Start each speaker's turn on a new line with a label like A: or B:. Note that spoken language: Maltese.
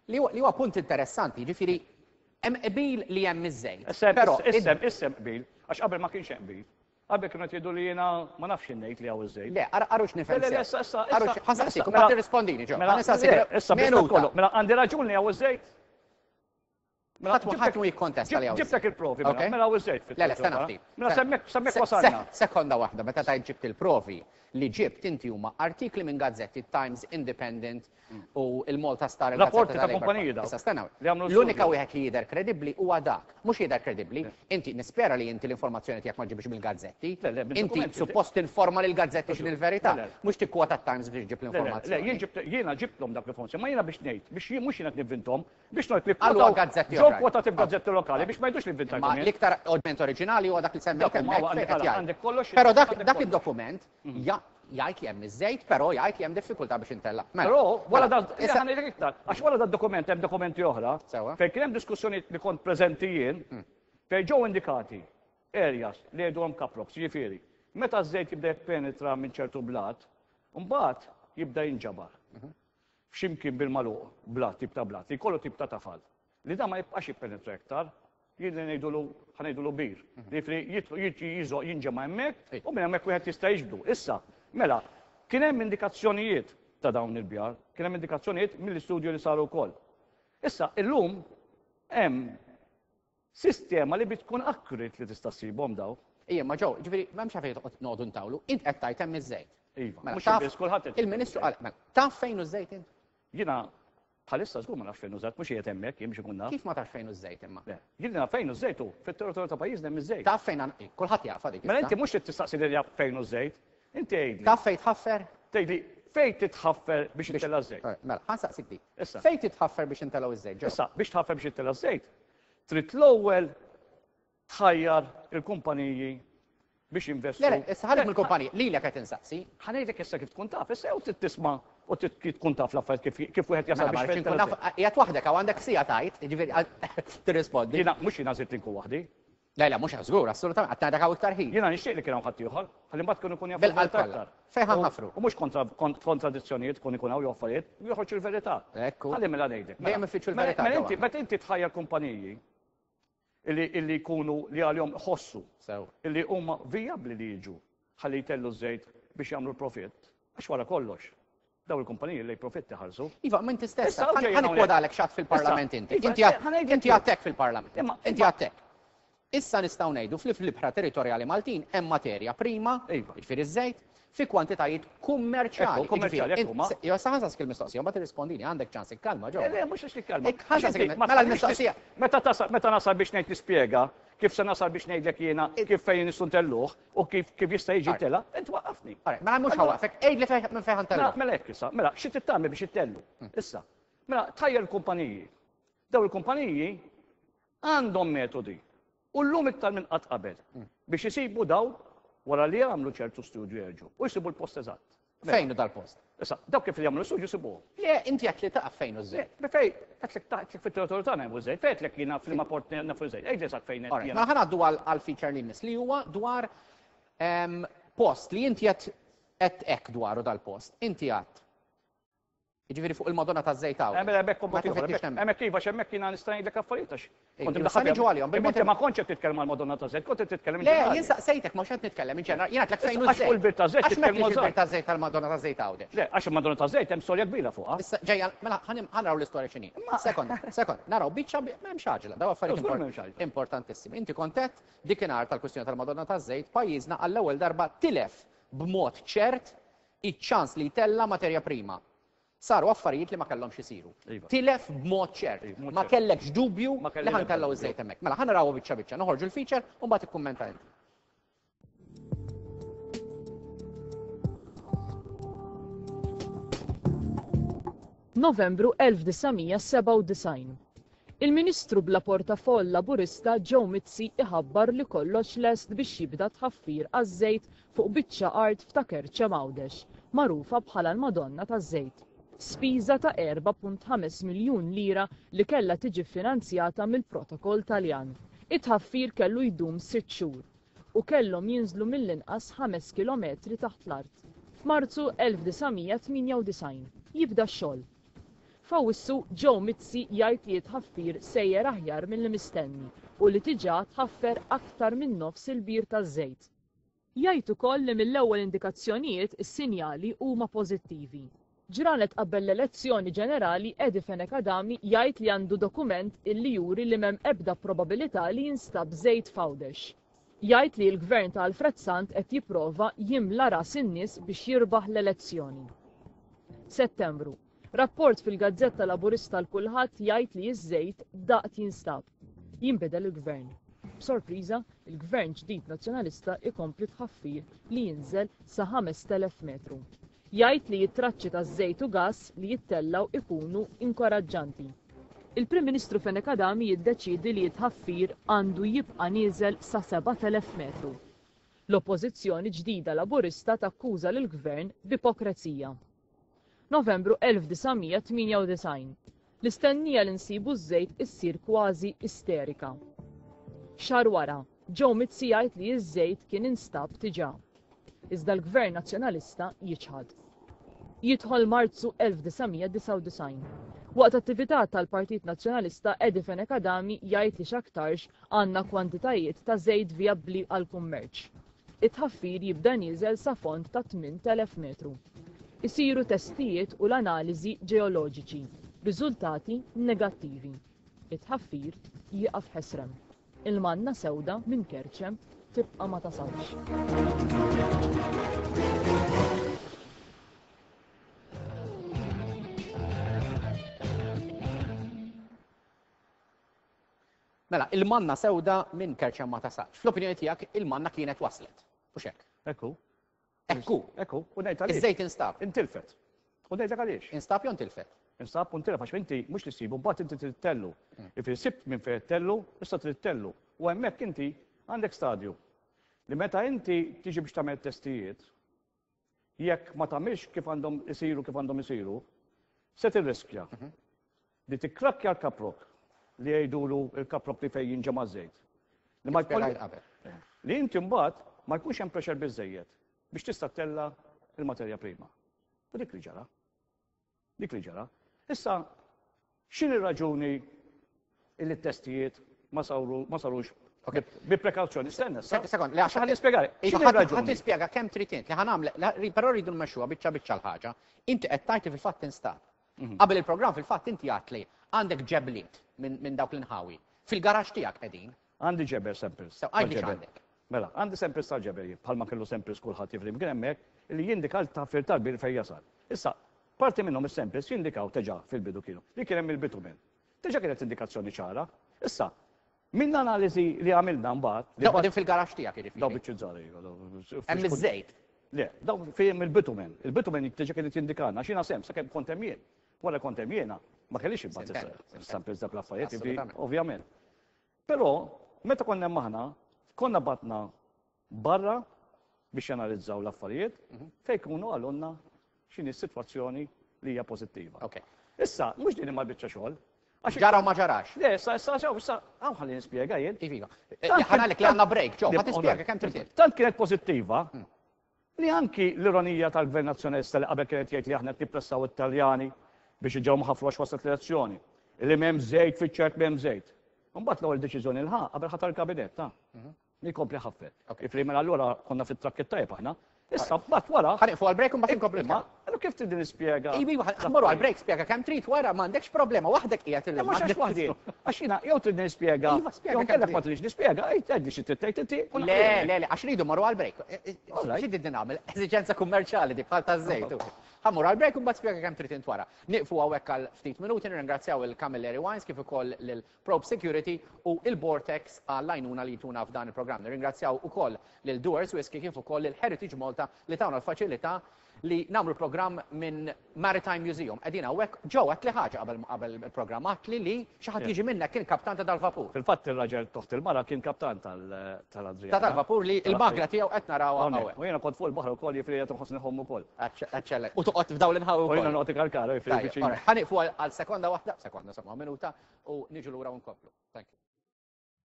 A: Li huwa punt interessanti, ġifieri hemm qbil li hemm iż-żejt.
B: Però issem issem qbil, għax qabel ma kienx hemm qbil. Qabel kienu jgħidu li jiena ma nafx ngħid li hawn iż-żejt.
A: Le, arux nifhem.
B: Le, le, issa, issa.
A: Arux, ħa nsaqsik, u mbagħad tirrispondini ġo.
B: Mela, issa, minuta. Mela, għandi raġun li hawn iż-żejt.
A: Mela, ħadd mu jikkontesta li hawn.
B: Ġibtek il-provi, mela, mela hawn iż-żejt.
A: Le, le, stenna ftit.
B: Mela semmek, semmek wasalna.
A: Sekonda waħda, meta tajt ġibt il-provi li ġibt inti huma artikli minn gazzetti Times, Independent u il-Malta Star.
B: Rapporti ta' kumpaniji dawn.
A: Issa stenna. L-unika wieħed li jidher kredibbli huwa dak. Mhux jidher kredibbli, inti nispera li inti l-informazzjoni tiegħek ma ġibx mill-gazzetti. Inti suppost tinforma lil gazzetti x'in il-verità, mhux tikkwota Times biex ġib l-informazzjoni.
B: Jiena ġibtlhom dak l-informazzjoni, ma jiena biex ngħid, biex mhux jiena nivvinthom, biex ngħid li
A: kwotaw gazzetti
B: ġew kwotati f'gazzetti lokali biex ma jgħidux li vvintajthom.
A: Ma l-iktar oġment oriġinali huwa dak li semmejt
B: hemmhekk.
A: Però dak id-dokument mhm. jgħid li hemm iż-żejt, però jgħid li hemm diffikultà biex intella.
B: Mela, però wara mela, dan, issa ngħidlek iktar, għax wara dan dokument hemm dokumenti oħra, fejn kien hemm diskussjoni li kont preżenti jien, mm. fejn ġew indikati areas li jgħidulhom caprox, jiġifieri, meta ż-żejt jibda jippenetra minn ċertu blat, mbagħad jibda jinġabar. Mhm. F'ximkien bil-magħluq, blat, tip ta' blat, li jkollu tip ta' tafal, li dan ma jibqax jippenetra iktar, jien li ngħidulu ħa ngħidulu bir, jiġifieri jidħol jiġi jiżoq jinġema' hemmhekk u minn hemmhekk wieħed jista' jiġbdu. Issa, mela, kien hemm indikazzjonijiet ta' dawn il-bjar, kien hemm indikazzjonijiet mill-istudju li saru wkoll. Issa, illum hemm sistema li bi tkun accurate li tista' ssibhom daw.
A: Ija, ma ġew, ġifieri m'hemmx għalfejn toqgħod noqogħdu ntawlu, int qed tgħid hemm iż-żejt.
B: Iva, mela, mhux biss kulħadd
A: Il-Ministru qal, mela, taf fejn hu żejt int?
B: Jiena bħalissa żgur ma nafx fejn hu żejt, mhux qiegħed hemmhekk jien biex ikun naf.
A: Kif ma tafx fejn hu żejt imma?
B: Le, jien naf fejn hu żejt hu, fit-territorju ta' pajjiżna hemm iż-żejt.
A: Taf fejn kulħadd jafha dik.
B: Mela inti mhux trid tistaqsi lil jaf fejn hu żejt, inti għidli.
A: Taf fejn tħaffer?
B: Tgħidli fejn titħaffer biex intella' ż-żejt.
A: Mela, ħa nsaqsik dik. Issa. Fejn titħaffer biex intellgħu ż-żejt?
B: Issa, biex tħaffer biex intella' ż-żejt, trid l-ewwel tħajjar il-kumpaniji biex jinvestu.
A: Le, issa ħallik mill-kumpaniji, lilek qed insaqsi.
B: Ħa ngħidlek issa kif tkun taf, issa jew trid tisma' u trid tkun taf l-affarijiet kif kif wieħed jasal
A: mela, biex nkun naf, qiegħed waħdek hawn għandek siegħa tgħid, jiġifieri tirrispondi.
B: Jiena mhux jiena żidt li nkun waħdi.
A: Le, le, mhux żgur, assolutament, qatt ngħidlek hawn iktar ħin.
B: Jiena nixtieq li kien hawn ħaddieħor, ħalli mbagħad kienu jkun
A: jafu l-verità aktar. Fejn ħa nħaffru?
B: U mhux kontradizzjonijiet tkun ikun hawn jew affarijiet, joħroġ il-verità.
A: Ekku.
B: Ħalli mela ngħidlek.
A: Dejjem ifittxu l-verità.
B: Mela inti meta inti tħajjar kumpaniji illi illi jkunu li għalihom iħossu illi huma vijabbli li jiġu ħalli jtellu ż-żejt biex jagħmlu l-profitt, għax wara kollox dawn il-kumpaniji li profitt iħarsu.
A: Iva, ma inti stess, ħa nikkwodalek x'għedt fil-Parlament inti. Iva, inti għedt hekk fil-Parlament. Inti għedt hekk. Issa nistgħu ngħidu fli fl-ibħra territorjali Maltin hemm materja prima,
B: iva.
A: jiġifieri ż-żejt, fi kwantitajiet kummerċjali.
B: Kummerċjali, hekk huma.
A: Jo, sa ħansaqsik il-mistoqsija, mbagħad tirrispondini, għandek ċans ikkalma ġo.
B: Le, le, mhux għax nikkalma.
A: Ħansaqsik mela l-mistoqsija.
B: Meta tasal, meta nasal biex ngħid nispjega kif se nasal biex ngħidlek jiena kif fejn nistgħu ntelluh u kif kif jista' jiġi tela, int waqqafni.
A: Mela mhux ħawaqfek, għidli fejn minn fejn ħantellu.
B: Mela hekk issa, mela xi trid tagħmel biex ittellu. Hmm. Issa, mela tħajjar il-kumpaniji. Daw il-kumpaniji għandhom metodi U llum iktar minn qatt qabel, biex isibu dawn wara li jagħmlu ċertu studju jerġgħu u jsibu l-post eżatt.
A: Mela. Fejn hu dal-post?
B: Issa, dawk kif jagħmlu studju jsibuhom.
A: Le, inti għedt li taf fejn hu ż-żejt.
B: Le, fejn, għedtlek tgħidlek fit-territorju tagħna hemm żejt, fejn għedtlek jiena f'liema port nafu żejt, għidli eżatt fejn
A: qed jiena. Mela ħa ngħaddu għall-feature li jmiss li huwa dwar ehm, post li inti qed qed hekk dwaru dal-post. Inti għedt Jiġifieri fuq il-Madonna taż-Żejt hawn.
B: Mela hemmhekk kont ieħor. Hemmhekk iva hemmhekk jiena nista' ngħidlek affarijiet għax
A: kont imdaħħal. Niġu għalihom.
B: Inti ma kontx qed titkellem għall-Madonna taż-Żejt, kont qed titkellem
A: Le, jien saqsejtek mhux qed nitkellem in ġenerali. Jien għedtlek fejn hu
B: żejt. Għax fuq il-bir taż-żejt
A: titkellmu eżatt. Il-bir taż-żejt tal-Madonna taż-Żejt Għawdex.
B: Le, għax il-Madonna taż-Żejt hemm storja kbira fuqha.
A: Issa ġejja, mela ħa naraw l-istorja x'inhi. Sekond, sekond, naraw biċċa m'hemmx għaġla, daw affarijiet importantissimi. Inti kont għedt dikinhar tal-kwistjoni tal-Madonna taż-Żejt pajjiżna għall-ewwel darba tilef b'mod ċert iċ-ċans li jtella' materja prima. Saru affarijiet li ma kellhomx isiru.
B: Iva.
A: Tilef b'mod ċert.
B: Iva, b'mod
A: Ma
B: ċert.
A: kellekx dubju
B: Ma kelli
A: li ħa
B: l-ebda
A: ntellgħu
B: dubju.
A: ż-żejt hemmhekk. Mela ħa narawha biċċa biċċa, noħorġu l-feature u mbagħad ikkummenta inti.
C: Novembru 1997. Il-Ministru bla portafoll Laburista Joe Mizzi iħabbar li kollox lest biex jibda tħaffir għaż-żejt fuq biċċa art f'Ta' Kerċem Għawdex, magħrufa bħala l-Madonna taż-Żejt. Spiża ta' 4.5 miljun lira li kellha tiġi ffinanzjata mill-Protokoll Taljan. It-tħaffir kellu jdum sitt xhur u kellhom jinżlu mill-inqas ħames kilometri taħt l-art. F'Marzu 1998, jibda x-xogħol. F'Awwissu, Joe Mizzi jgħid li t-tħaffir sejjer aħjar milli mistenni u li diġà tħaffer aktar minn nofs il-bir taż-żejt. Jgħid ukoll li mill-ewwel indikazzjonijiet is-sinjali huma pożittivi. Ġranet qabel l-elezzjoni ġenerali Eddie Fenech Adami jgħid li għandu dokument illi juri li m'hemm ebda probabilità li jinstab żejt f'Għawdex. Jgħid li l-Gvern ta' Alfred Sant qed jipprova jimla ras in-nies biex jirbaħ l-elezzjoni. Settembru, Rapport fil-gazzetta Laburista l-Kulħadd jgħid li ż-żejt daqt jinstab. Jinbidel il-Gvern. B'sorpriża, il-Gvern ġdid Nazzjonalista jkompli tħaffir li jinżel sa 5,000 metru. Jgħid li t-traċċi taż-żejt u gass li jittellgħu ikunu inkoraġġanti. Il-Prim Ministru Fenech Adami jiddeċiedi li t-tħaffir għandu jibqa' nieżel sa 7,000 metru. L-Oppożizzjoni ġdida Laburista takkuża lill-Gvern b'ipokrezija. Novembru 1998. L-istennija li nsibu ż-żejt issir kważi isterika. Xahar wara, Joe Mizzi jgħid li ż-żejt kien instab diġà. Iżda l-Gvern Nazzjonalista jiċħad. Jidħol Marzu 1999. Waqt attività tal-Partit Nazzjonalista Eddie Fenech Adami jgħid li x'aktarx għandna kwantitajiet ta' żejt vijabbli għall-kummerċ. It-tħaffir jibda nieżel sa fond ta' 8,000 metru. Isiru testijiet u l-analiżi ġeoloġiċi. Riżultati negattivi. It-tħaffir jieqaf ħesrem. Il-manna sewda minn Kerċem tibqa' ma tasalx.
A: Mela, il-manna sewda minn Kerċem ma tasalx. Fl-opinjoni tiegħek il-manna kienet waslet. Mhux hekk?
B: Ekku.
A: Ekku.
B: Ekku. U ngħid għaliex.
A: Iż-żejt instab.
B: Intilfet. U ngħidlek għaliex.
A: Instab jew intilfet?
B: Instab u ntilef għax inti mhux li ssibu mbagħad inti trid tellu. Jifieri sibt minn fejn tellu, issa trid tellu. U hemmhekk inti għandek stadju li meta inti tiġi biex tagħmel testijiet, jekk ma tagħmilx kif għandhom isiru kif għandhom isiru, se tirriskja mhm. li tikkrakkja l-kaprok li jgħidulu l-kaprok li fejn jinġema' żejt.
A: Li ma jkun
B: Li inti mbagħad ma jkunx hemm pressure biżejjed biex tista' tella il-materja prima. U dik li ġara. Dik li ġara. Issa, x'inhi r-raġuni illi t-testijiet ma sarux bi prekawzjoni? Stenna,
A: Sekond, li għax
B: ħalli nispjegare.
A: X'inhi r-raġuni? Ħa tispjega kemm trid int li ħa nagħmel, però rridu nmexxuha biċċa biċċa l-ħaġa. Inti qed tgħid li fil-fatt instab. Mhm. Qabel il-programm fil-fatt inti għedt li għandek ġebliet minn dawk l-inħawi. Fil-garaxx tiegħek qegħdin.
B: Għandi ġebel samples.
A: Sew, għidli x'għandek.
B: Mela, għandi samples tal-ġebel jien, bħalma kellu samples kulħadd jifri kien hemmhekk, li jindika l-tħaffir tal-bir fejn jasal. Issa, parti minnhom is-samples jindikaw teġa' fil-bidu kienu li kien hemm il-bitumen. Teġa' kienet indikazzjoni ċara. Issa, minn analiżi li għamilna mbagħad.
A: Dawk qegħdin fil-garaxx tiegħek jiġifieri.
B: Dawk biċċiet żgħar iva.
A: Hemm iż-żejt.
B: Le, dawk fihom il-bitumen. Il-bitumen teġa' kienet jindikalna għax jiena sehem sakemm kont hemm jien. Wara kont hemm jiena, ma kellix imbagħad is-samples dak l-affarijiet, ovvjament. Però, meta konna hemm aħna, konna batna barra biex janalizzaw l-affarijiet mhm. fejn kunu għalunna x'inhi s-sitwazzjoni li hija pożittiva. Issa, mhux din imma biċċa xogħol.
A: Ġara u ma ġarax.
B: Le, issa, issa, issa, issa, għaw ħalli nispjega jien.
A: Iva, iva. Eh, ħanalek li għandna break, ġo, ħa tispjega kemm trid.
B: Tant kienet pożittiva mm. Li anki l-ironija tal-Gvern Nazzjonalista li qabel kien qed jgħid li aħna qed nippressaw it-Taljani biex iġegħu ħafru għax waslet l-elezzjoni. Li m'hemm żejt fiċ-ċert m'hemm żejt. Imbagħad l-ewwel deċiżjoni li ħa qabel ħatar il-kabinett ta' mhm. li jkompli ħaffet. Ifri mela allura konna fit-trakk it-tajjeb aħna. Issa mbagħad wara.
A: Ħa nieqfu għall-break u mbagħad inkomplu.
B: Ma allura kif trid nispjega?
A: Iva, iva, ħa għall-break spjega kemm trid wara m'għandekx problema waħdek qiegħed
B: il Mhux għax waħdi. Għax jiena jew trid nispjega.
A: Iva, spjega.
B: Jew kellek ma tridx nispjega, għidli xi trid tgħid inti.
A: Le, le, le, għax rridu morru għall-break. Xi trid nagħmel? Eżiġenza kummerċjali dik bħal taż-żejt. Ħa mmur għall-break u mbagħad spjega kemm trid int wara. Nieqfu hawnhekk għal ftit minuti nirringrazzjaw il-Camilleri Wines kif ukoll lil Probe Security u il-Vortex għall-għajnuna li jtuna f'dan il-programm. Nirringrazzjaw ukoll lil Dewar's Whisky kif ukoll lil Heritage Malta li tawna l-faċilità li nagħmlu programm minn Maritime Museum. Qegħdin hawnhekk ġew għedtli ħaġa qabel qabel il-programm għedtli li xi ħadd jiġi minnek kien kaptan ta' dal-vapur.
B: Fil-fatt ir-raġel toħt il-mara kien kaptan tal-Adriana.
A: Ta' dal-vapur li l-magna tiegħu qed narawha hawnhekk.
B: U jiena kont fuq il-baħar ukoll jiġifieri qed inħossni ħomm ukoll.
A: Eċċellenti. U toqgħod f'dawn l-inħawi
B: wkoll. U jiena noqgħod ikarkara jiġifieri viċin.
A: Ħa nieqfu għal sekonda waħda, sekonda insomma minuta u niġu lura u nkomplu. Thank you.